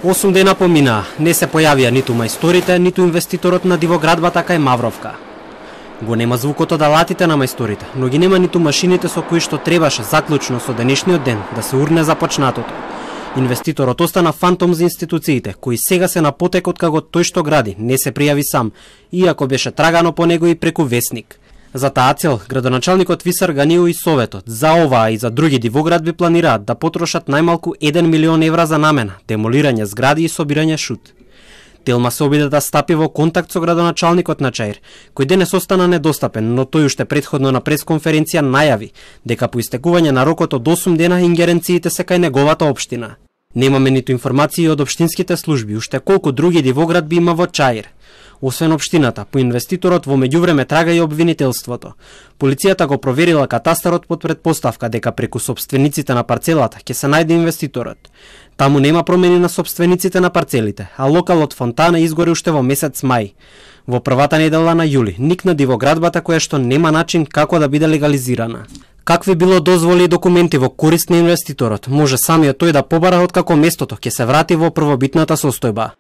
8 дена поминаа, не се појавија ниту мајсторите, ниту инвеститорот на дивоградбата кај Мавровка. Го нема звукот од алатите на мајсторите, но ги нема ниту машините со кои што требаше заклучно со денешниот ден да се урне започнатото. Инвеститорот остана фантом за институциите, кои сега се на потек од како тој што гради не се пријави сам, иако беше трагано по него и преку весник. За таа цел, градоначалникот Висар Ганио и Советот за оваа и за други дивоградби планираат да потрошат најмалку 1 милион евра за намена, демолирање згради и собирање шут. Телма се обиде да стапи во контакт со градоначалникот на Чаир, кој денес остана недостапен, но тој уште претходно на пресконференција најави дека по истекување на рокот од 8 дена ингеренциите се кај неговата општина. Немаме ниту информации од општинските служби, уште колку други дивоградби има во Чаир. Освен општината, по инвеститорот во меѓувреме трага и обвинителството. Полицијата го проверила катастарот под предпоставка дека преку сопствениците на парцелата ќе се најде инвеститорот. Таму нема промени на сопствениците на парцелите, а локалот Фонтана изгори уште во месец мај. Во првата недела на јули никна дивоградбата која што нема начин како да биде легализирана. Какви било дозволи и документи во корист на инвеститорот, може самиот тој да побара откако местото ќе се врати во првобитната состојба.